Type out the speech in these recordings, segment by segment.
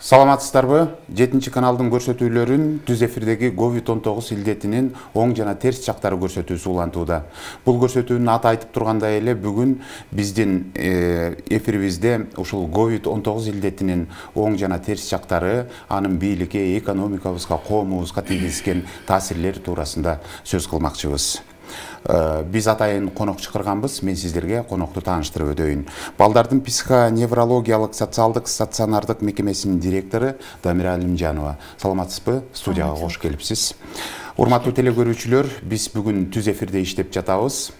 Саламатсыздарбы? 7 каналдын көрсөтүүлөрүн түз эфирдеги COVID-19 илдетинин оң жана терс жактары көрсөтүүсү улантууда. Бул көрсөтүүнүн аты айтып тургандай эле бүгүн биздин эфирибизде ушул COVID-19 илдетинин оң жана терс жактары, анын бийликке, экономикабызга, коомубузга тийгизген таасирлери туурасында сөз кылмакчыбыз. Биз атайын конок чакырганбыз. Мен сиздерге конокту тааныштырып өтөйүн. Балдардын психоневрологиялык социалдык стационардык мекемесинин директору Дамира Алимжанова. Саламатсызбы? Студияга кош келипсиз. Урматтуу телекөрүүчүлөр, биз бүгүн түз эфирде иштеп жатабыз.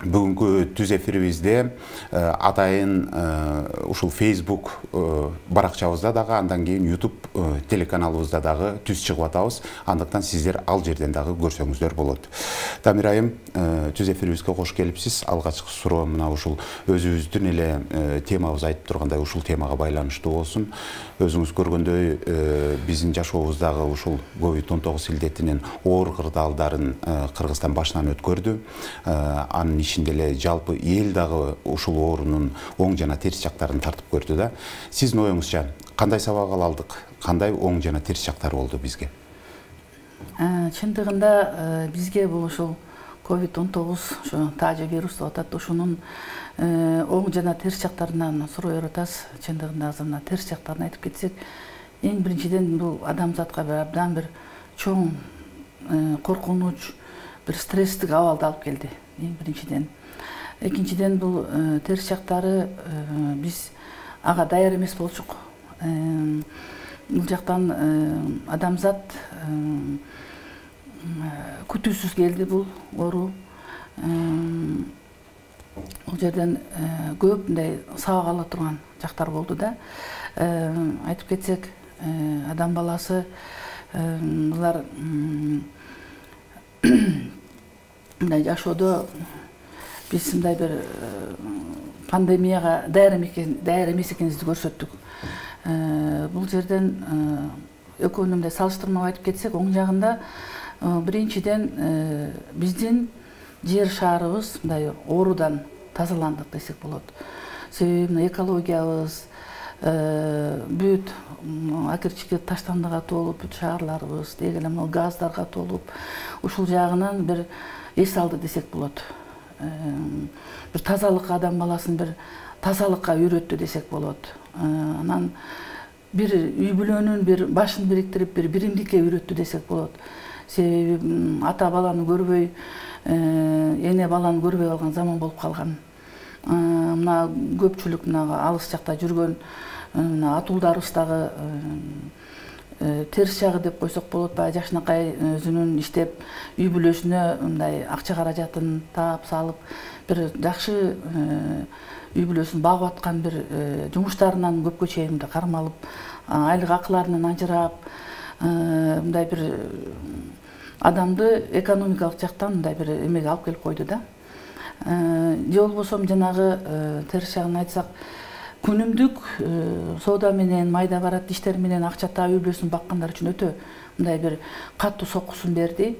Бүгүнкү түз эфирибизде атайын ушул Facebook баракчабызда дагы, андан кийин YouTube телеканалыбызда дагы түз чыгып атабыз. Андыктан сиздер ал жерден дагы көрсөңүздөр болот. Дамир айым, түз эфирибизге кош келипсиз. Алгачкы суроо мына ушул өзүбүздүн эле темабыз айтып тургандай ушул темага байланыштуу болсун. Өзүңүз көргөндөй биздин жашообуздагы ушул COVID-19 илдетинин оор кырдаалдарын Кыргызстан башынан өткөрдү. Анын ичинде эле жалпы эл дагы ушул оорунун оң жана терс жактарын тартып көрдү да. Сиздин оюңузча кандай сабак ала алдык? Кандай оң жана терс жактары болду бизге? Чындыгында бизге бул ушул COVID-19 ошо таажа вирус деп атат. Ушунун оң жана терс жактарынан суроо атасыз. Чындыгында азыр мына терс жактарын айтып кетсек, эң биринчиден бул адамзатка абдан бир чоң коркунуч, бир стресстик абалды алып келди. Эң биринчиден. Экинчиден бул терс жактары биз ага даяр эмес болчук. Бул жактан адамзат күтүүсүз келди бул оору. Бул жерден көп мындай сабак ала турган жактар болду да. Айтып кетсек, адам баласы булар мындай жашоодо биз мындай бир пандемияга даяр эмес экенибизди көрсөттүк. Бул жерден экөөнү мындай салыштырмалап айтып кетсек, оң жагында биринчиден биздин жер шаарыбыз мындай оорудан тазаландык десек болот. Себеби мына экологиябыз бүт акырчыкы таштандыга толуп, бүт шаарларыбыз деги эле мына газдарга толуп, ушул жагынан бир эс алды десек болот. Бир тазалыкка адам баласын бир тазалыкка үйрөттү десек болот. Анан бир үй бүлөнүн бир башын бириктирип, бир биримдикке үйрөттү десек болот. Себеби ата баланы көрбөй, эне баланы көрбөй калган заман болуп калган. Мына көпчүлүк мына алыс жакта жүргөн атуулдарыбыз дагы терс жагы деп койсок болот. Баягы жакшынакай өзүнүн иштеп үй бүлөсүнө мындай акча каражатын таап салып, бир жакшы үй бүлөсүн багып аткан бир жумуштарынан көпкө чейин кармалып, айлык акыларынан ажырап, мындай бир адамды экономикалык жактан мындай бир эмеге алып келип койду да. Же болбосо жанагы терс жагын айтсак, күнүмдүк соода менен, майда барат иштер менен акча таап үй бүлөсүн баккандар үчүн өтө мындай бир катуу соккусун берди.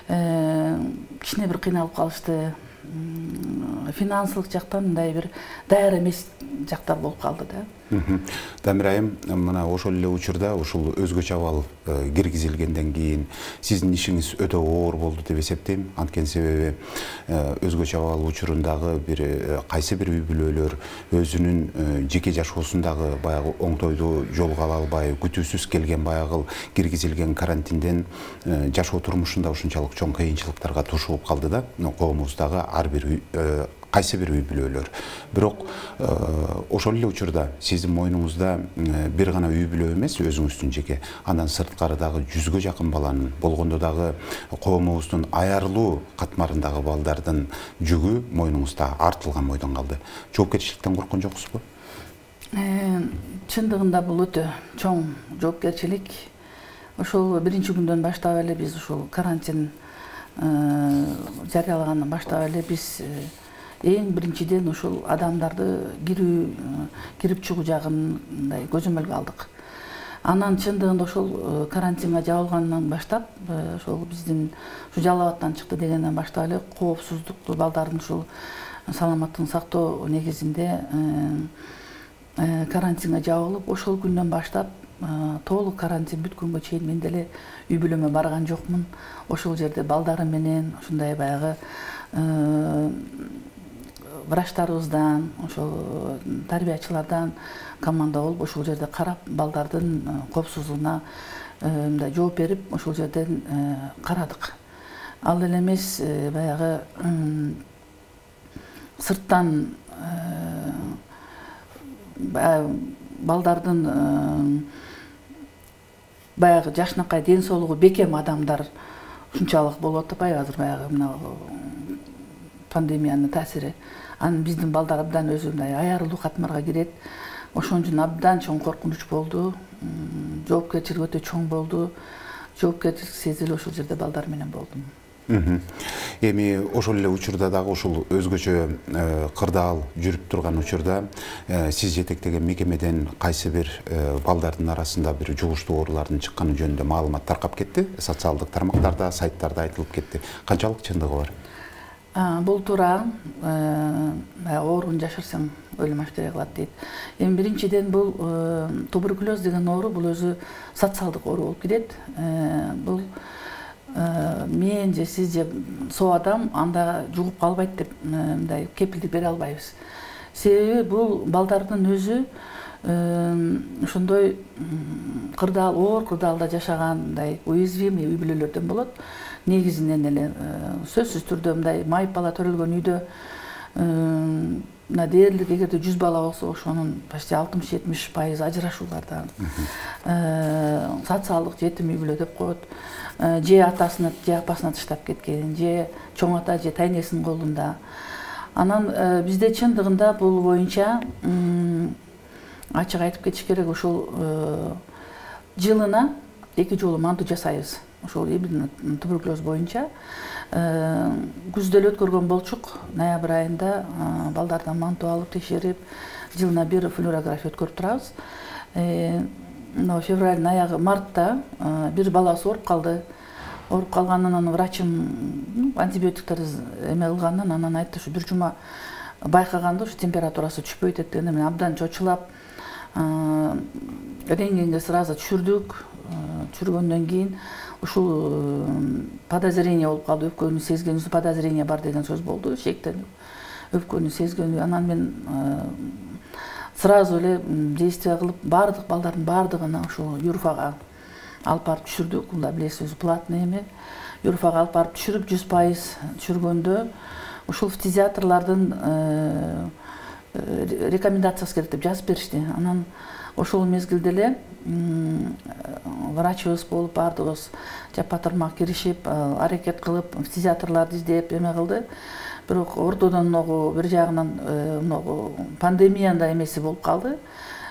Кичине бир кыйналып калышты. Финансылык жактан мындай бир даяр эмес жактар болуп калды да. Дамир айым, мына ошол эле учурда ушул өзгөчө абал киргизилгенден кийин сиздин ишиңиз өтө оор болду деп эсептейм. Анткени себеби өзгөчө абал учурундагы бир кайсы бир үй бүлөлөр өзүнүн жеке жашоосундагы баягы оңтойду жолго ала албай, күтүүсүз келген баягы киргизилген карантинден жашоо турмушунда ушунчалык чоң кыйынчылыктарга тушуп калды да. Коомубуздагы ар бир кайсы бир үй бүлөлөр. Бирок ошол эле учурда сиздин мойнуңузда бир гана үй бүлө эмес, өзүңүздүн жеке, андан сырткары дагы 100гө жакын баланын, болгондо дагы коомубуздун аярлуу катмарындагы балдардын жүгү мойнуңузда артылган бойдон калды. Жоопкерчиликтен корккон жоксузбу? Чындыгында бул өтө чоң жоопкерчилик. Ошол биринчи күндөн баштап эле биз ушул карантин жарыялагандан баштап эле биз эң биринчиден ушул адамдарды кирип чыгуу жагын мындай көзөмөлгө алдык. Анан чындыгында ошол карантинге жабылгандан баштап, ошол биздин ушу Жалал абадтан чыкты дегенден баштап эле коопсуздукту балдардын ушул саламаттыгын сактоо негизинде карантинге жабылып, ошол күндөн баштап толук карантин бүткөнгө чейин мен деле үй бүлөмө барган жокмун. Ошол жерде балдарым менен ушундай баягы врачтарыбыздан, ошол тарбиячылардан команда болуп ошол жерде карап, балдардын коопсуздугуна мындай жооп берип, ошол жерден карадык. Ал эле эмес баягы сырттан балдардын баягы жакшынакай ден соолугу бекем адамдар ушунчалык болуп атпайбы азыр баягы мына пандемиянын таасири. Анан биздин балдар абдан өзү мындай аярылуу катмарга кирет. Ошон үчүн абдан чоң коркунуч болду. Жоопкерчилик өтө чоң болду. Жоопкерчилик сезилип ошол жерде балдар менен болдум. Эми ошол эле учурда дагы ушул өзгөчө кырдаал жүрүп турган учурда сиз жетектеген мекемеден кайсы бир балдардын арасында бир жугуштуу оорулардын чыкканы жөнүндө маалымат таркап кетти. Социалдык тармактарда, сайттарда айтылып кетти. Канчалык чындыгы бар? Бул туура. Ооруну жашырсаң өлүм ашкере кылат дейт. Эми биринчиден бул туберкулез деген оору бул өзү социалдык оору болуп келет. Бул мен же сиз же соо адам анда жугуп калбайт деп мындай кепилдик бере албайбыз. Себеби бул балдардын өзү ошондой кырдаал, оор кырдаалда жашаган мындай уязвимый үй бүлөлөрдөн болот. Негизинен эле сөзсүз түрдө мындай майып бала төрөлгөн үйдө мына дээрлик эгерде 100 бала болсо ошонун почти 60-70% ажырашуулардан, социалдык жетим үй бүлө деп коет. Же атасына, же апасына таштап кеткен, же чоң ата, же тайнесинин колунда. Анан бизде чындыгында бул боюнча ачык айтып кетиш керек, ошол жылына 2 жолу манту жасайбыз. Ошол именно туберкулез боюнча күздө эле өткөргөн болчук. Ноябрь айында балдардан манту алып текшерип, жылына бир флюорография өткөрүп турабыз. Февралдын аягы, мартта бир баласы ооруп калды. Ооруп калганынан анан врачым антибиотиктерди эме кылгандан анан айтты, ушу бир жума байкаганда ушу температурасы түшпөйт дегенде мен абдан чочулап рентгенге сразу түшүрдүк. Түшүргөндөн кийин ушул подозрение болуп калды, өпкөнү сезгенибиз, подозрение бар деген сөз болду, шектенип. Өпкөнү сезгенибиз, анан мен сразу эле действие кылып, бардык балдардын бардыгына ошол Юрфага алып барып түшүрдүк. Бул да билесиз, өзү платный эме. Юрфага алып барып түшүрүп 100% түшүргөндө ушул фтизиатрлардын рекомендациясы керек деп жазып беришти. Анан ошол мезгилде эле врачыбыз болуп бардыгыбыз жапа-тармак киришип, аракет кылып, фтизиатрларды издеп эме кылды. Бирок ортодон бир жагынан пандемиянын эмеси болуп калды.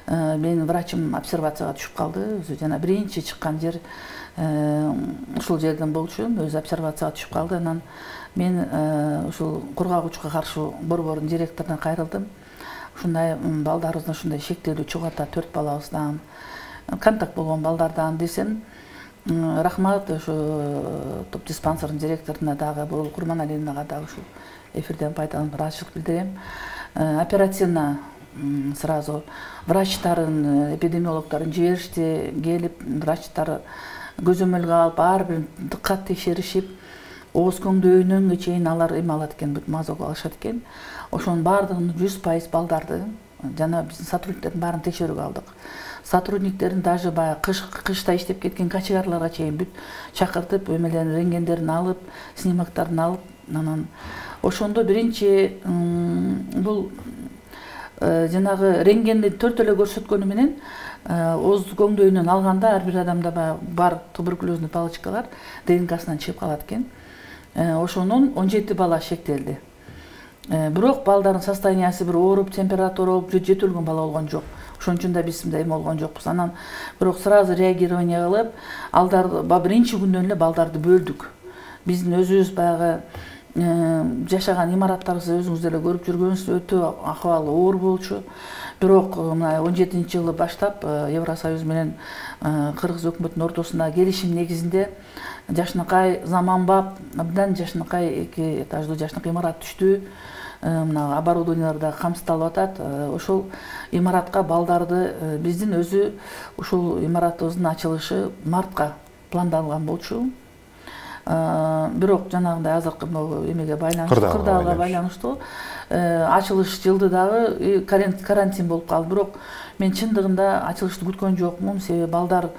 Менин врачым обсервацияга түшүп калды. Өзү жана биринчи чыккан жер ушул жерден болчу, өзү обсервацияга түшүп калды. Анан мен ушул кургагучка каршы борбордун директоруна кайрылдым. Ушундай балдарыбыздын ушундай шектелүү чогуу ата 4 балабыздан контакт болгон балдардан десем, рахмат ошо топ диспансердин директоруна дагы, Бурул Курманалиевнага дагы ушул эфирден пайдаланып ыраазычылык билдирем. Оперативно сразу врачтарын, эпидемиологдорун жиберишти, келип врачтар көзөмөлгө алып, ар бир дыккат текшеришип, ооз көңдөйүнөн чейин алар эме алат экен, бүт мазок алышат экен. Ошонун бардыгын 100% балдарды жана биздин сотрудниктердин баарын текшерүүгө алдык. Сотрудниктерин даже баягы кышта иштеп кеткен качегарларга чейин бүт чакыртып, эмелерин, рентгендерин алып, снимоктарын алып, анан ошондо биринчи бул жанагы рентгенди 4 эле көрсөткөнү менен ооз көңдөйүнөн алганда ар бир адамда бар туберкулезный палочкалар ДНКсынан чыгып калат экен. Ошонун 17 бала шектелди. Бирок балдардын состояниясы бир ооруп, температура болуп, жетилген бала болгон жок. Ошон үчүн да биз мындай эме болгон жокпуз. Анан бирок сразу реагирование кылып, алдарды биринчи күндөн эле балдарды бөлдүк. Биздин өзүбүз баягы жашаган имараттарыбыз өзүңүз деле көрүп жүргөнсүз, өтө акыбалы оор болчу. Бирок мына 17-жылы баштап Евросоюз менен Кыргыз өкмөтүнүн ортосунда келишим негизинде жашынакай заманбап, абдан жашынакай 2 этаждуу жашынакай имарат түштү. мына оборудованиялар да камсыздалып атат. Ошол имаратка балдарды биздин өзү ушул имаратыбыздын ачылышы мартка пландалган болчу. Бирок жанагындай азыркы эмеге байланыштуу, кырдаалга байланыштуу ачылыш жылды дагы карантин болуп калды. Бирок мен чындыгында ачылышты күткөн жокмун, себеби балдар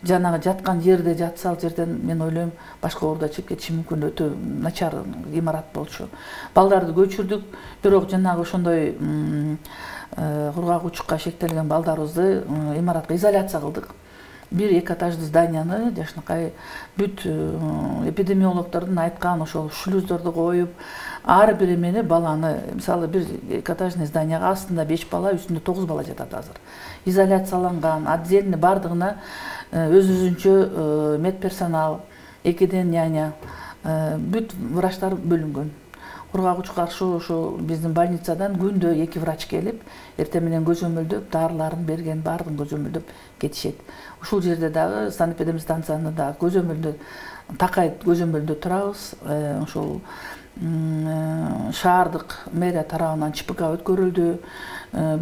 жанагы жаткан жерде жатса, ал жерден мен ойлойм башка ооруда чыгып кетиши мүмкүн, өтө начар имарат болчу. Балдарды көчүрдүк, бирок жанагы ошондой кургак учукка шектелген балдарыбызды имаратка изоляция кылдык. Бир эки этаждуу зданияны жашынакай бүт эпидемиологдордун айткан ошол шлюздорду коюп, ар бир эмени баланы, мисалы бир эки этажный зданияга астында 5 бала, үстүндө 9 бала жатат азыр. Изоляцияланган, отдельно бардыгына өз-өзүнчө медперсонал, экиден няня, бүт врачтар бөлүнгөн. Кургак учукка каршы ошо биздин больницадан күндө 2 врач келип, эртең менен көзөмөлдөп, дарыларын берген, баардыгын көзөмөлдөп кетишет. Ушул жерде дагы санэпидемстанцияны да көзөмөлдө такай көзөмөлдө турабыз. Ошол шаардык мэрия тарабынан ЧПК өткөрүлдү,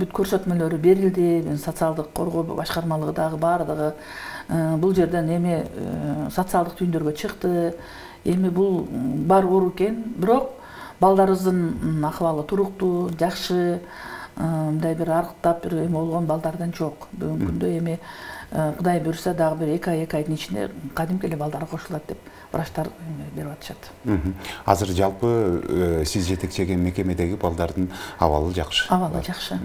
бүт көрсөтмөлөрү берилди, социалдык коргоо башкармалыгы дагы баардыгы бул жерден эми социалдык түйүндөргө чыкты. Эми бул бар оору экен, бирок балдарыбыздын акыбалы туруктуу, жакшы, мындай бир арыктап бир эме болгон балдардан жок. Бүгүнкү күндө эми Кудай буйруса дагы бир 2 айдын ичинде кадимки эле балдар кошулат деп врачтар берип атышат. Азыр жалпы сиз жетекчеген мекемедеги балдардын абалы жакшы. Абалы жакшы.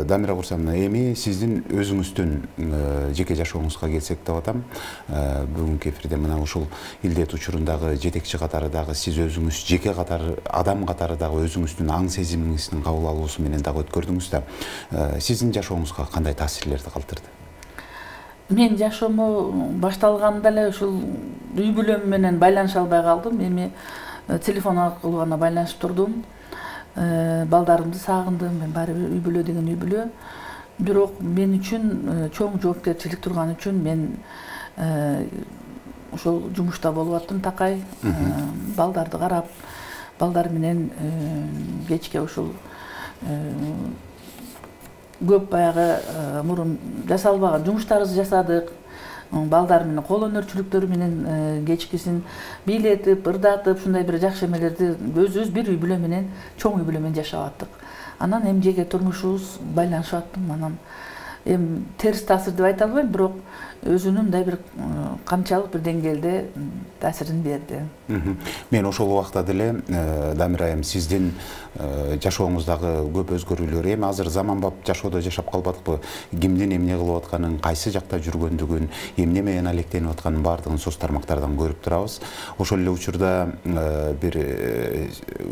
Дамира Курсановна, эми сиздин өзүңүздүн жеке жашооңузга келсек деп атам. Бүгүнкү эфирде мына ушул илдет учурундагы жетекчи катары дагы сиз өзүңүз жеке катары, адам катары дагы өзүңүздүн аң сезимиңиздин кабыл алуусу менен дагы өткөрдүңүз да. Сиздин жашооңузга кандай таасирлерди калтырды? Мен жашоому башталганда эле ушул үй бүлөм менен байланыша албай калдым. Эми телефон аркылуу гана байланышып турдум. Балдарымды сагындым. Мен баары бир үй бүлө деген үй бүлө. Бирок мен үчүн чоң жоопкерчилик турган үчүн мен ошол жумушта болуп аттым такай. Балдарды карап, балдар менен кечке ушул көп баягы мурун жасалбаган жумуштарыбызды жасадык. Балдар менен кол өнөрчүлүктөрү менен кечкисин бийлетип, ырдатып, ушундай бир жакшы эмелерди өзүбүз бир үй бүлө менен, чоң үй бүлө менен жашап аттык. Анан эми жеке турмушубуз байланышып аттым. Анан эми терс таасир деп айта албайм, бирок өзүнүн мындай бир канчалык бир деңгээлде таасирин берди. Мен ошол убакта деле Дамира айым сиздин жашооңуздагы көп өзгөрүүлөр, эми азыр заманбап жашоодо жашап калбадыкпы? Кимдин эмне кылып атканын, кайсы жакта жүргөндүгүн, эмне менен алектенип атканын баардыгын соц тармактардан көрүп турабыз. Ошол эле учурда бир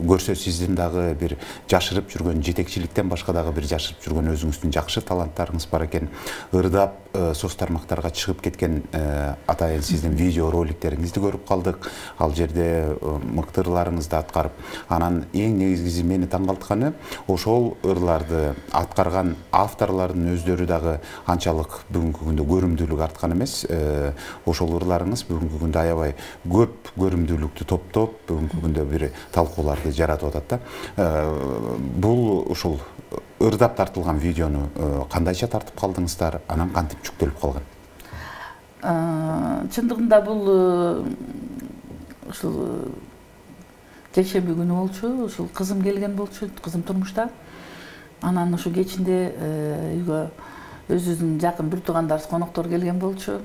көрсө сиздин дагы бир жашырып жүргөн, жетекчиликтен башка дагы бир жашырып жүргөн өзүңүздүн жакшы таланттарыңыз бар экен. Ырдап соц тармактарга чыгып кеткен атайын сиздин видео роликтериңизди көрүп калдык. Ал жерде мыкты ырларыңызды аткарып, анан эң негизгиси мени таң калтырганы, ошол ырларды аткарган авторлордун өздөрү дагы анчалык бүгүнкү күндө көрүмдүүлүк арткан эмес. Ошол ырларыңыз бүгүнкү күндө аябай көп көрүмдүүлүктү топтоп, бүгүнкү күндө бир талкууларды жаратып атат да. Бул ушул ырдап тартылган видеону кандайча тартып калдыңыздар, анан кантип жүктөлүп калган? Чындыгында бул ушул жекшемби күнү болчу, ушул кызым келген болчу, кызым турмушта. Анан ушул кечинде үйгө өзүбүздүн жакын бир туугандарыбыз коноктор келген болчу.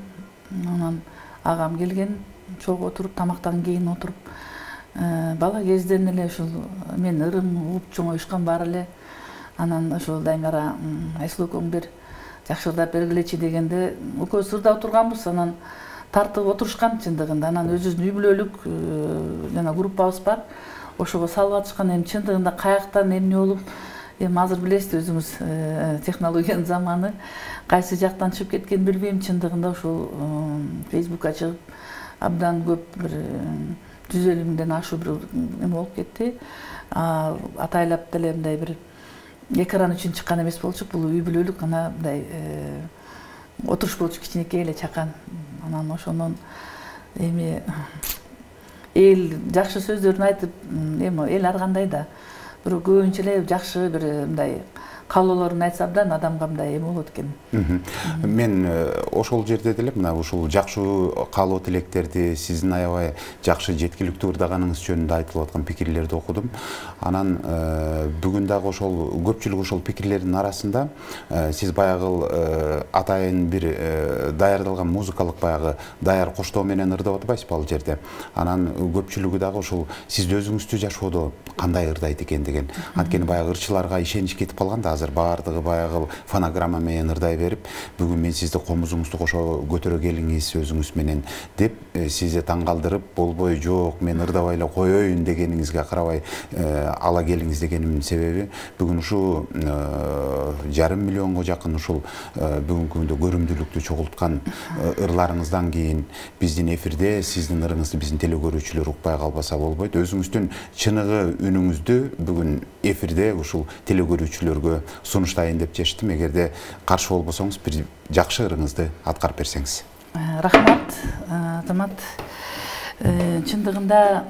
Анан агам келген, чогуу отуруп, тамактан кийин отуруп, бала кезден эле ушул мен ырым угуп чоңоюшкан баары эле. Анан ошол Дамира Айсулуу экөөң бир жакшы ырдап бергилечи дегенде, экөөбүз ырдап отурганбыз, анан тартып отурушкан чындыгында. Анан өзүбүздүн үй бүлөлүк жана группабыз бар. Ошого салып атышкан. Эми чындыгында каяктан эмне болуп, эми азыр билесиз өзүңүз технологиянын заманы, кайсы жактан чыгып кеткенин билбейм. Чындыгында ошол Facebookка чыгып абдан көп бир 150 миңден ашуу бир эме болуп кетти. Атайлап деле мындай бир экран үчүн чыккан эмес болчук. Бул үй бүлөлүк ана мындай отуруш болчу, кичинекей эле чакан. Анан ошонун эми эл жакшы сөздөрүн айтып, эми эл ар кандай да бирок көбүнчө эле жакшы бир мындай каалоолорун айтсам да адамга мындай эме болот экен. Мен ошол жерде деле мына ушул жакшы каалоо тилектерди, сиздин аябай жакшы жеткиликтүү ырдаганыңыз жөнүндө айтылып аткан пикирлерди окудум. Анан бүгүн дагы ошол көпчүлүк ошол пикирлердин арасында сиз баягы атайын бир даярдалган музыкалык баягы даяр коштоо менен ырдап атпайсызбы ал жерде. Анан көпчүлүгү дагы ушул сиз өзүңүздү жашоодо кандай ырдайт экен деген. Анткени баягы ырчыларга ишенич кетип калган да, азыр баардыгы баягы фонограмма менен ырдай берип, бүгүн мен сизди комузуңузду кошо көтөрө келиңиз өзүңүз менен деп сизди таң калтырып, болбой жок мен ырдабай эле коеюн дегениңизге карабай ала келиңиз дегенимдин себеби бүгүн ушу 5,5 миллионго жакын ушул бүгүнкү күндө көрүмдүүлүктү чогулткан ырларыңыздан кийин биздин эфирде сиздин ырыңызды биздин телекөрүүчүлөр укпай калбаса болбойт. Өзүңүздүн чыныгы үнүңүздү бүгүн эфирде ушул телекөрүүчүлөргө сунуштайын деп чечтим. Эгерде каршы болбосоңуз бир жакшы ырыңызды аткарып берсеңиз. Рахмат, Азамат. Чындыгында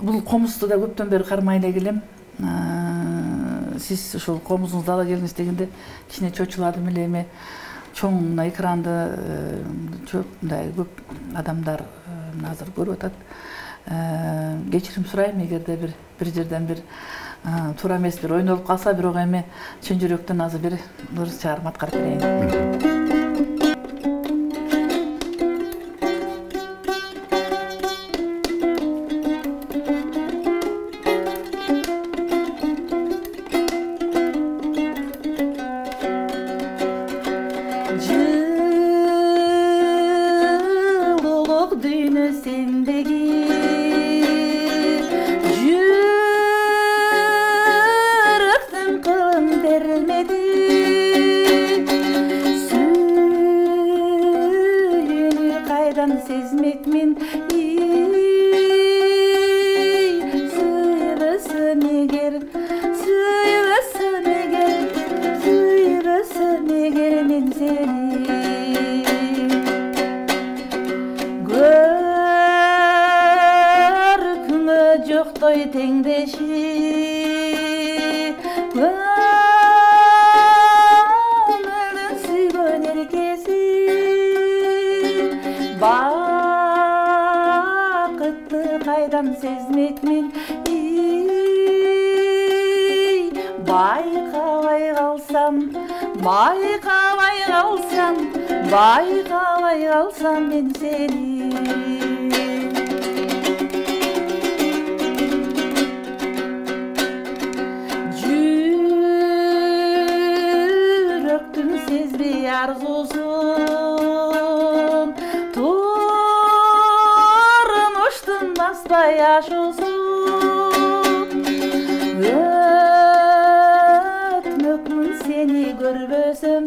бул комузду да көптөн бери кармай эле келем. Сиз ушул комузуңузду ала келиңиз дегенде кичине чочуладым эле. Эме чоң экранды мындай көп адамдар азыр көрүп атат. Кечирим сурайм, эгерде бир жерден бир туура эмес бир ойнолуп калса, бирок эми чын жүрөктөн азыр бир ыр чыгарып аткарып берейин. Байкабай калсам мен сени. Жүрөктүн сезбей арзусун, турмуштун баспай ашуусун, өтмөкмүн сени көрбөсөм.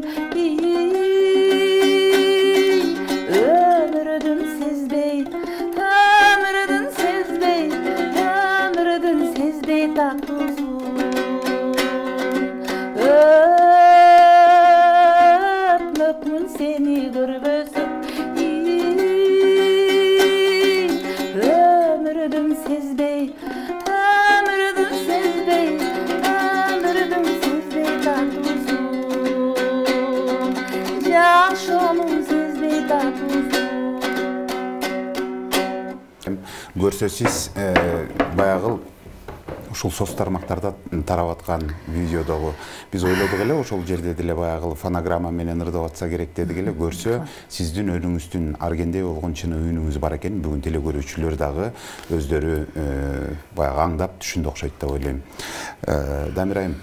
Öpmökmün seni görбөсөм, ömrүдүн сезбей, ömrүдүн сезбей, ömrүдүн сезбей татуусун, жашоонун сезбей татуусун. Көрсө сиз баягы ушул соц тармактарда тарап аткан видеодогу биз ойлодук эле ошол жерде деле баягы фонограмма менен ырдап атса керек дедик эле. Көрсө сиздин өнүңүздүн аргендей болгон чын үнүңүз бар экен. Бүгүн телекөрүүчүлөр дагы өздөрү баягы аңдап түшүндү окшойт деп ойлойм. Дамир айым,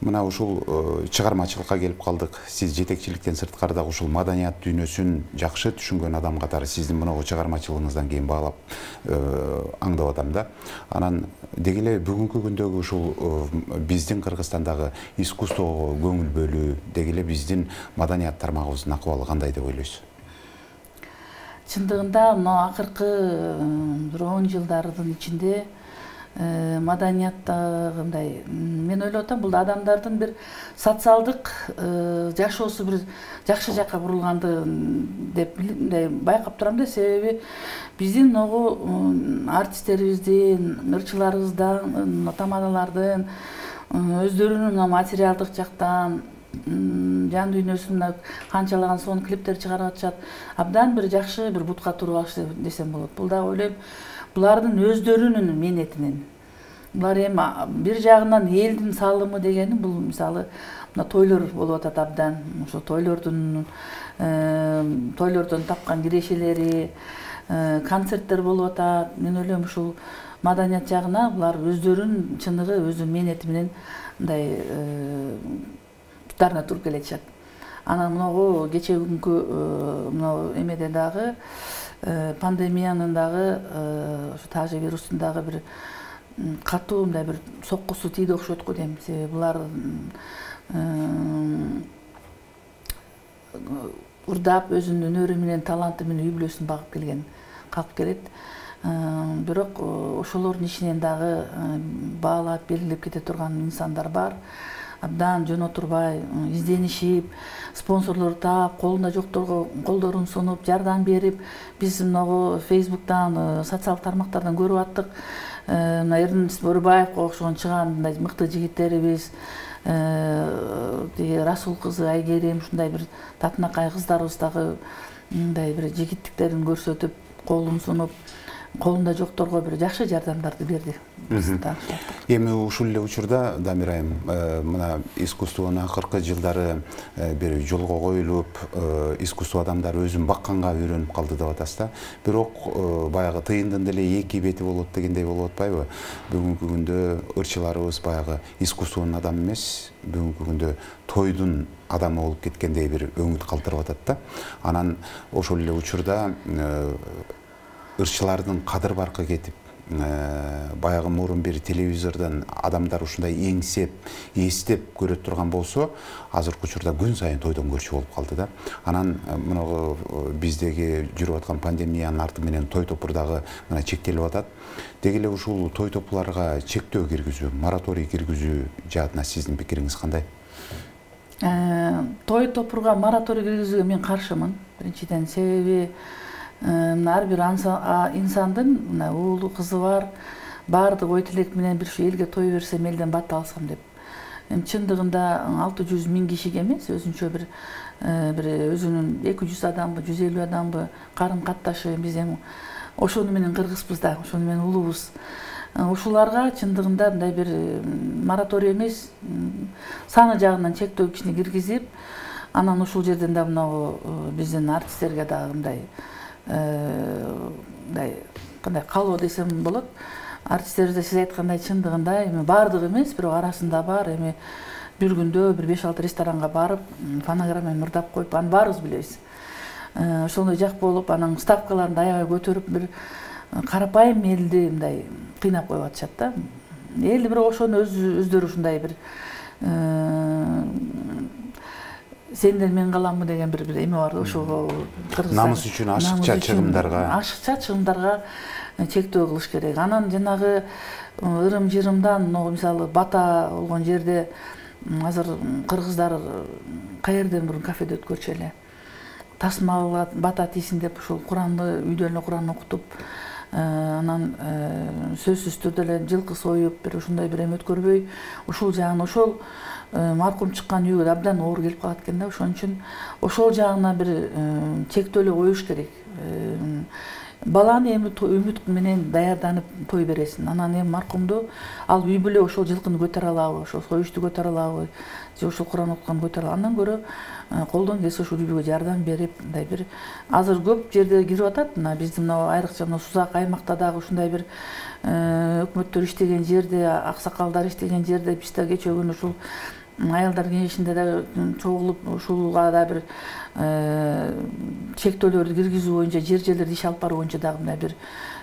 мына ушул чыгармачылыкка келип калдык. Сиз жетекчиликтен сырткары дагы ушул маданият дүйнөсүн жакшы түшүнгөн адам катары сиздин мынагу чыгармачылыгыңыздан кийин баалап аңдап атам да. Анан деги эле бүгүнкү күндөгү ушул биздин Кыргызстандагы искусствого көңүл бөлүү, деги эле биздин маданият тармагыбыздын акыбалы кандай деп ойлойсуз? Чындыгында мына акыркы 10 жылдардын ичинде маданияттагы мындай мен ойлоп атам, бул адамдардын бир социалдык жашоосу бир жакшы жакка бурулгандыгын деп мындай байкап турам да. Себеби биздин могу артисттерибиздин, ырчыларыбыздын, тамадалардын өздөрүнүн материалдык жактан жан дүйнөсүндө канчалаган сонун клиптер чыгарып атышат. Абдан бир жакшы бир бутка туруп алышты десем болот. Бул да ойлойм булардын өздөрүнүн менетинен. Булар эми бир жагынан элдин салымы дегени бул мисалы мына тойлор болуп атат абдан. Ошо тойлордон тапкан кирешелери, концерттер болуп атат. Мен ойлойм ушул маданият жагына булар өздөрүнүн чыныгы өзүнүн менети менен мындай туттарына туруп келетишат. Анан мынагу кече күнкү мына эмеде дагы пандемиянын дагы ошо тажы вирустун дагы бир катуу мындай бир соккусу тийди окшойт го дейм. Себеби булар урдап өзүнүн өнөрү менен, таланты менен үй бүлөсүн багып келген калп келет. Бирок ошолордун ичинен дагы баалап, белгилеп кете турган инсандар бар. Абдан жөн отурбай изденишип, спонсорлор таап, колунда жокторго колдорун сунуп, жардам берип, биз могу Facebook'тан, социалдык тармактардан көрүп аттык. Мына Эрнест Борубаевго окшогон чыган мындай мыкты жигиттерибиз, Расул кызы Айгерим, ушундай бир татынакай кыздарыбыз дагы мындай бир жигиттиктерин көрсөтүп, колун сунуп, колунда жокторго бир жакшы жардамдарды берди. Эми ушул эле учурда Дамир айым, мына искусствонун акыркы жылдары бир жолго коюлуп, искусство адамдары өзүн бакканга үйрөнүп калды деп атасыз да. Бирок баягы тыйындын деле эки бети болот дегендей болуп атпайбы? Бүгүнкү күндө ырчыларыбыз баягы искусствонун адамы эмес, бүгүнкү күндө тойдун адамы болуп кеткендей бир өңүт калтырып атат да. Анан ошол эле учурда ырчылардын кадыр баркы кетип, баягы мурун бир телевизордон адамдар ушундай эңсеп, эстеп көрөт турган болсо, азыркы учурда күн сайын тойдон көрчү болуп калды да. Анан мына биздеги жүрүп аткан пандемиянын арты менен той топур дагы мына чектелип атат. Деги эле ушул той топларга чектөө киргизүү, мораторий киргизүү жаатына сиздин пикириңиз кандай? Той топурга мораторий киргизүүгө мен каршымын. Биринчиден себеби ар бир инсандын уулу, кызы бар, баардык ой тилек менен бир ушу элге той берсем, элден бат алсам деп. Чындыгында 600 000 кишиге эмес, өзүнчө бир өзүнүн 200 адамбы, 150 адамбы карым катташы, биз эми ошону менен кыргызбыз да, ошону менен улуубуз. Ушуларга чындыгында мындай бир мораторий эмес, саны жагынан чектөө кишини киргизип, анан ушул жерден да мынагу биздин артисттерге дагы мындай кандай калоо десем болот. Артисттерибизде сиз айткандай чындыгында эми баардыгы эмес, бирок арасында бар. Эми бир күндө бир 5-6 ресторанга барып, фонограмма мырдап коюп, аны баарыбыз билебиз. Ошондой жак болуп, анан ставкаларын аябай көтөрүп, бир карапайым элди мындай кыйнап коюп атышат да. Эл бирок ошону өздөрү ушундай бир сенден мен каламмы деген бир эме бар. Ошого намыс үчүн ашыкча чыгымдарга чектөө кылыш керек. Анан жанагы ырым-жырымдан, мисалы бата болгон жерде азыр кыргыздар каерден мурун кафеде өткөрчү эле. Тасма бата тийсин деп ушул Куранды үйдөн эле Куран окутуп, анан сөзсүз түрдө эле жылкы союп, бир ушундай бир эме өткөрбөй, ушул жагын ошол маркум чыккан үйгө абдан оор келип калат экен да. Ошон үчүн ошол жагына бир чектөөлөр коюш керек. Баланы эми үмүт менен даярданып той бересин. Анан эми маркумду ал үй бүлө ошол жылкыны көтөрө алабы, ошол союшту көтөрө алабы, же ошол Куран окутканды көтөрө алабы. Андан көрө колдон келсе ушул үй бүлөгө жардам берип, мындай бир азыр көп жерде кирип атат. Мына биздин айрыкча Сузак аймакта дагы ушундай бир өкмөттөр иштеген жерде, аксакалдар иштеген жерде биз да кечээ күнү ушул аялдар кеңешинде да чогулуп, ушулга да бир чектөөлөрдү киргизүү боюнча, жерлерди иш алып баруу боюнча дагы мындай бир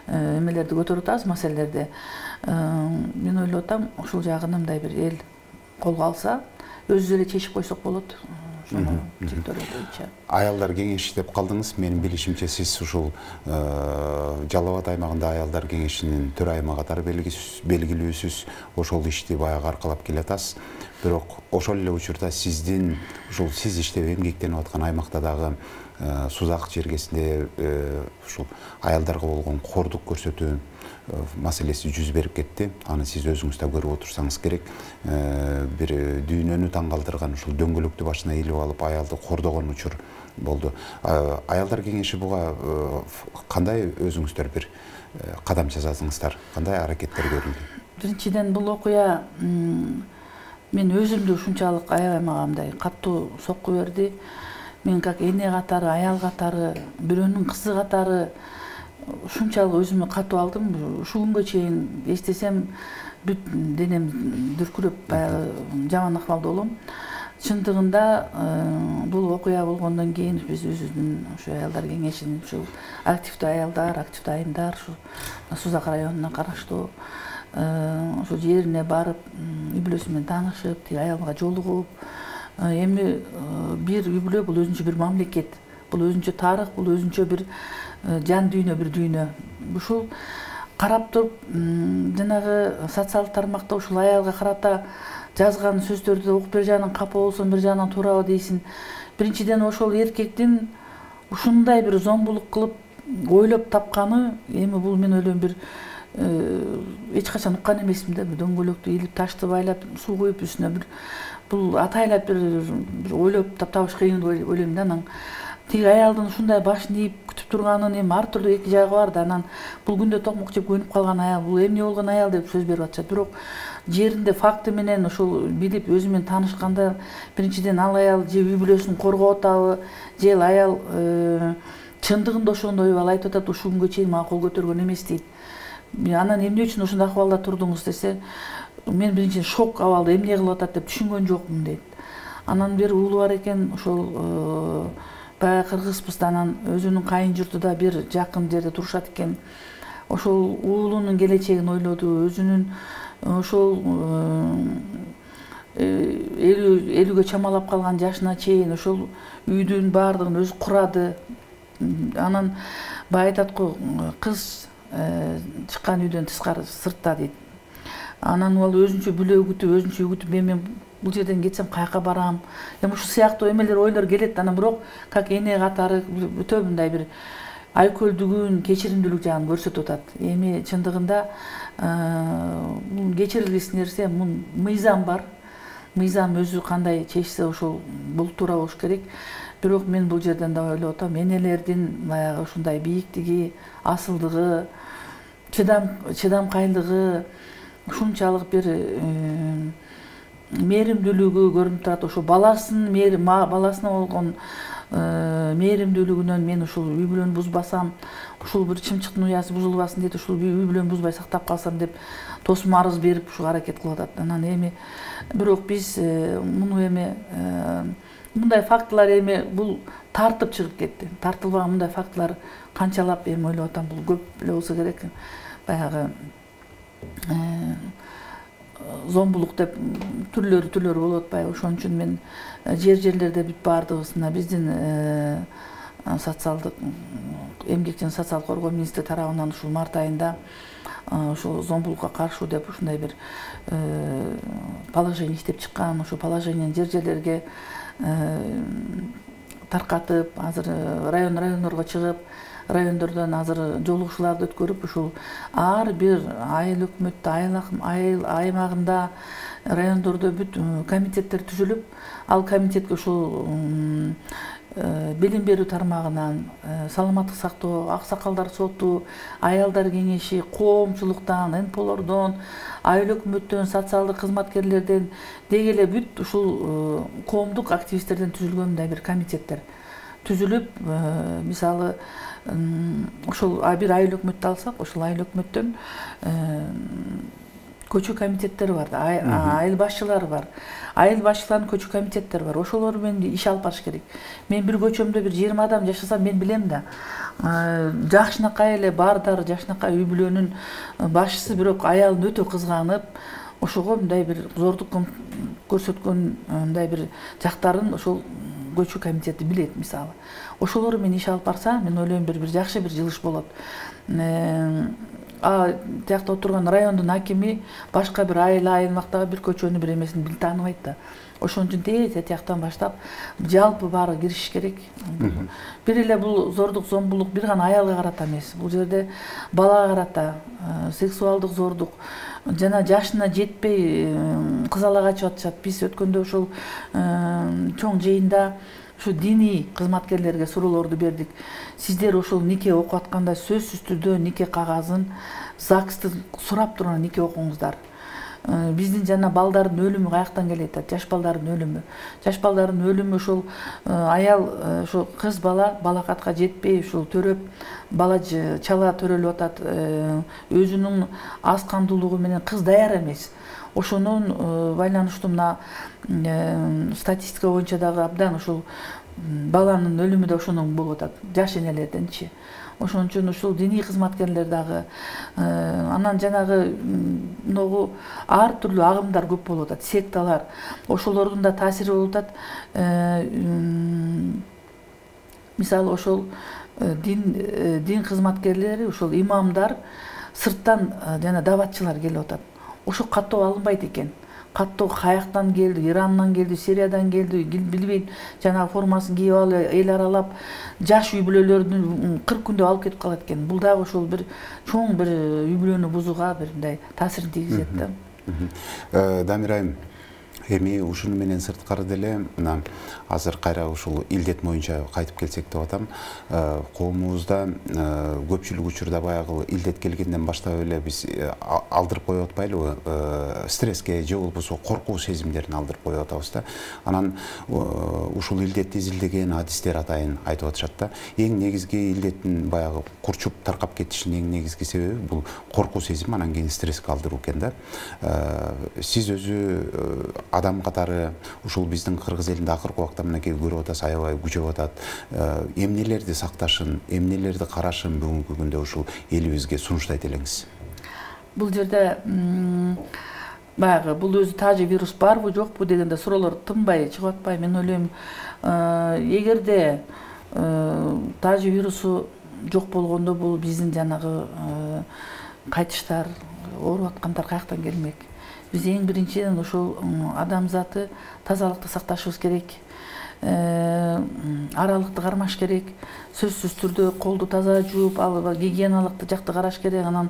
эмелерди көтөрүп атабыз, маселелерди. Мен ойлоп атам, ушул жагын мындай бир эл колго алса, өзүбүз эле чечип койсок болот. ошону чектөөлөр боюнча. Аялдар кеңеши деп калдыңыз. Менин билишимче сиз ушул Жалал Абад аймагында аялдар кеңешинин төрайымы катары белгилүүсүз. Ошол ишти баягы аркалап келатасыз. Бирок ошол эле учурда сиздин ушул сиз иштеп эмгектенип аткан аймакта дагы Сузак жергесинде ушул аялдарга болгон кордук көрсөтүү маселеси жүз берип кетти. Аны сиз өзүңүз да көрүп отурсаңыз керек. Бир дүйнөнү таң калтырган ушул дөңгөлөктү башына илип алып аялды кордогон учур болду. Аялдар кеңеши буга кандай өзүңүздөр бир кадам жасадыңыздар? Кандай аракеттер көрүлдү? Биринчиден бул окуя мен өзүмдү ушунчалык аябай мага мындай катуу сокку берди. Мен как эне катары, аял катары, бирөөнүн кызы катары ушунчалык өзүмө катуу алдым. Ушул күнгө чейин эстесем бүт денем дүркүрөп баягы жаман акыбалда болом. Чындыгында бул окуя болгондон кийин биз өзүбүздүн ушу аялдар кеңешинин ушул активдүү аялдар, активдүү айымдар ушу Сузак районуна караштуу ошо жерине барып, үй бүлөсү менен таанышып, тиги аялга жолугуп, эми бир үй бүлө бул өзүнчө бир мамлекет, бул өзүнчө тарых, бул өзүнчө бир жан дүйнө, бир дүйнө. Ушул карап туруп, жанагы социалдык тармакта ушул аялга карата жазган сөздөрдү окуп бир жагынан капа болсоң, бир жагынан туурабы дейсиң. Биринчиден ошол эркектин ушундай бир зомбулук кылып ойлоп тапканы, эми бул мен ойлойм бир эч качан уккан эмесмин да. Бир дөңгөлөктү илип, ташты байлап, суу куюп үстүнө бир бул атайлап бир ойлоп таптабыш кыйын деп ойлойм да. Анан тиги аялдын ушундай башын ийип күтүп турганын эми ар түрдүү эки жагы бар да. Анан бул күндө токмок жеп көнүп калган аял, бул эмне болгон аял деп сөз берип атышат. Бирок жеринде факты менен ошол билип өзү менен таанышканда биринчиден ал аял же үй бүлөсүн коргоп атабы, же аял чындыгында ошондойбу, ал айтып атат ушул күнгө чейин мага кол көтөргөн эмес дейт. Анан эмне үчүн ушундай акыбалда турдуңуз десе, мен биринчиден шок абалда эмне кылып атат деп түшүнгөн жокмун дейт. Анан бир уулу бар экен, ошол баягы кыргызбыз да, анан өзүнүн кайын журту да бир жакын жерде турушат экен. Ошол уулунун келечегин ойлоду, өзүнүн ошол 50-ге чамалап калган жашына чейин ошол үйдүн баардыгын өзү курады. Анан баягы айтат го, кыз чыккан үйдөн тышкары сыртта дейт. Анан ал өзүнчө бүлө күтүп, өзүнчө үй күтүп, мен бул жерден кетсем каяка барам? Эми ушул сыяктуу эмелер, ойлор келет. Анан бирок как эне катары өтө мындай бир айкөлдүгүн, кечиримдүүлүк жагын көрсөтүп атат. Эми чындыгында бул кечирилгис нерсе, мун мыйзам бар. Мыйзам өзү кандай чечсе ошол бул туура болуш керек. Бирок мен бул жерден да ойлоп атам, энелердин баягы ушундай бийиктиги, асылдыгы, чыдамкайлыгы, ушунчалык бир мээримдүүлүгү көрүнүп турат. Ошо баласына болгон мээримдүүлүгүнөн мен ушул үй бүлөнү бузбасам, ушул бир чымчыктын уясы бузулбасын дейт, ушул үй бүлөнү бузбай сактап калсам деп тосум арыз берип ушу аракет кылып атат. Анан эми бирок биз муну эми мындай фактылар эми бул тартып чыгып кетти. Тартылбаган мындай фактылар канчалап эми ойлоп атам, бул көп эле болсо керек. Баягы зомбулук деп түрлөрү болуп атпайбы. Ошон үчүн мен жерлерде бүт баардыгысына биздин социалдык эмгек жана социалдык коргоо министри тарабынан ушул март айында ошол зомбулукка каршы деп ушундай бир положение иштеп чыккан. Ошо положениени жерлерге таркатып, азыр райондорго чыгып, райондордон азыр жолугушууларды өткөрүп, ушул ар бир айыл өкмөттө, айыл аймагында, райондордо бүт комитеттер түзүлүп, ал комитетке ушул билим берүү тармагынан, саламаттык сактоо, аксакалдар соту, аялдар кеңеши, коомчулуктан, НПОлордон, айыл өкмөттөн, социалдык кызматкерлерден деги эле бүт ушул коомдук активисттерден түзүлгөн мындай бир комитеттер түзүлүп, мисалы ошол бир айыл өкмөттү алсак, ошол айыл өкмөттөн көчө комитеттери бар, айыл башчылары бар. Айыл башчыларынын көчө комитеттери бар. Ошолор менен иш алып барыш керек. Мен бир көчөмдө бир 20 адам жашасам, мен билем да. Жакшынакай эле баардары, жакшынакай үй бүлөнүн башчысы, бирок аялын өтө кызганып, ошого мындай бир зордук көрсөткөн мындай бир жактарын ошол көчүү комитети билет мисалы. Ошолор менен иш алып барса, мен ойлойм бир жакшы бир жылыш болот. Тиякта отурган райондун акими башка бир аймактагы бир көчөнү бир эмесин тааныбайт да. Ошон үчүн тез тияктан баштап жалпы баары киришиш керек. Бир эле бул зордук, зомбулук бир гана аялга карата эмес. Бул жерде балага карата сексуалдык зордук жана жашына жетпей кызала качып атышат. Биз өткөндө ошол чоң жыйында ушу диний кызматкерлерге суроолорду бердик. Сиздер ошол нике окуп атканда сөзсүз түрдө нике кагазын, ЗАГСты сурап турган нике окуңуздар. Биздин жана балдардын өлүмү каяктан келет? Жаш балдардын өлүмү. Жаш балдардын өлүмү ошол аял, ошол кыз бала балакатка жетпей, ушул төрөп, бала чала төрөлүп атат. Өзүнүн аз камдуулугу менен кыз даяр эмес. Ошонун байланыштуу мына статистика боюнча дагы абдан ошол баланын өлүмү да ошондон болуп атат, жаш энелерденчи. Ошон үчүн ушул диний кызматкерлер дагы анан жанагы многу ар түрдүү агымдар көп болуп атат, секталар. Ошолордун да таасири болуп атат. Мисалы ошол дин кызматкерлери, ошол имамдар сырттан жана даватчылар келип атат. Ошо каттоо алынбайт экен. Каттоо каяктан келди, Ирандан келди, Сириядан келди, билбейм, жанагы формасын кийип алып, эл аралап, жаш үй бүлөлөрдүн 40 күндө алып кетип калат экен. Бул дагы ошол бир чоң бир үй бүлөнү бузууга бир мындай таасирин тийгизет да. Дамир айым, эми ушуну менен сырткары деле мына азыр кайра ушул илдет боюнча кайтып келсек деп атам. Коомубузда көпчүлүк учурда баягы илдет келгенден баштап эле биз алдырып коюп атпайлыбы? Стресске же болбосо коркуу сезимдерин алдырып коюп атабыз да. Анан ушул илдетти изилдеген адистер атайын айтып атышат да. Эң негизги илдеттин баягы курчуп таркап кетишинин эң негизги себеби бул коркуу сезим, анан кийин стресске алдыруу экен да. Сиз өзү адам катары ушул биздин кыргыз элинде акыркы убакта мынакей көрүп атасыз, аябай күчөп атат. Эмнелерди сакташын, эмнелерди карашын бүгүнкү күндө ушул элибизге сунуштайт элеңиз? Бул жерде баягы бул өзү тажы вирус барбы жокпу дегенде суроолор тынбай чыгып атпайбы? Мен ойлойм, эгерде тажы вирусу жок болгондо бул биздин жанагы кайтыштар, ооруп аткандар каяктан келмек? Биз эң биринчиден ошол адамзаты тазалыкты сакташыбыз керек. Аралыкты кармаш керек. Сөзсүз түрдө колду таза жууп, гигиеналык жакты караш керек. Анан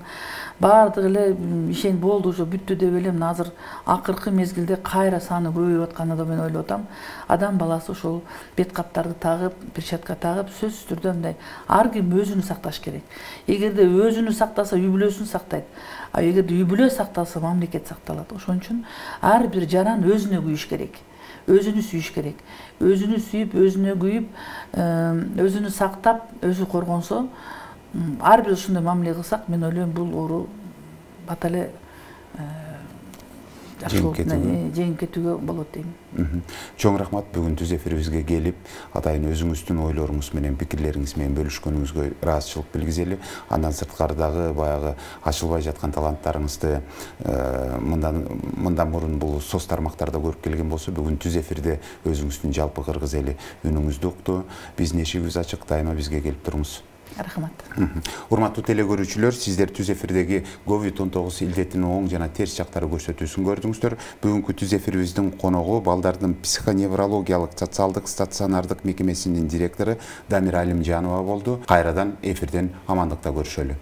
баардыгы эле ишен болду, уже бүттү деп эле мына азыр акыркы мезгилде кайра саны көбөйүп атканын да мен ойлоп атам. Адам баласы ошол бет каптарды тагып, перчатка тагып, сөзсүз түрдө мындай ар ким өзүнү сакташ керек. Эгерде өзүнү сактаса, үй бүлөсүн сактайт. А эгерде үй бүлө сакталса, мамлекет сакталат. Ошон үчүн ар бир жаран өзүнө күйүш керек. Өзүнү сүйүш керек. Өзүнү сүйүп, өзүнө күйүп, өзүнү сактап, өзү коргонсо, ар бир ушундай мамиле кылсак, мен ойлойм бул оору бат эле жеңип кетүүгө болот дейм. Чоң рахмат бүгүн түз эфирибизге келип, атайын өзүңүздүн ойлоруңуз менен, пикирлериңиз менен бөлүшкөнүңүзгө ыраазычылык билгизели. Андан сырткардагы баягы ачылбай жаткан таланттарыңызды мындан мурун бул соц тармактарда көрүп келген болсо, бүгүн түз эфирде өзүңүздүн жалпы кыргыз эли үнүңүздү укту. Биздин эшигибиз ачык, дайыма бизге келип туруңуз. Рахмат. Урматтуу телегөрүүчүлөр, сиздер түз эфирдеги COVID-19 илдетинин оң жана терс жактары көрсөтүүсүн көрдүңүздөр. Бүгүнкү түз эфирибиздин коногу балдардын психоневрологиялык социалдык стационардык мекемесинин директору Дамир Алимжанова болду. Кайрадан эфирден амандыкта көрүшөлү.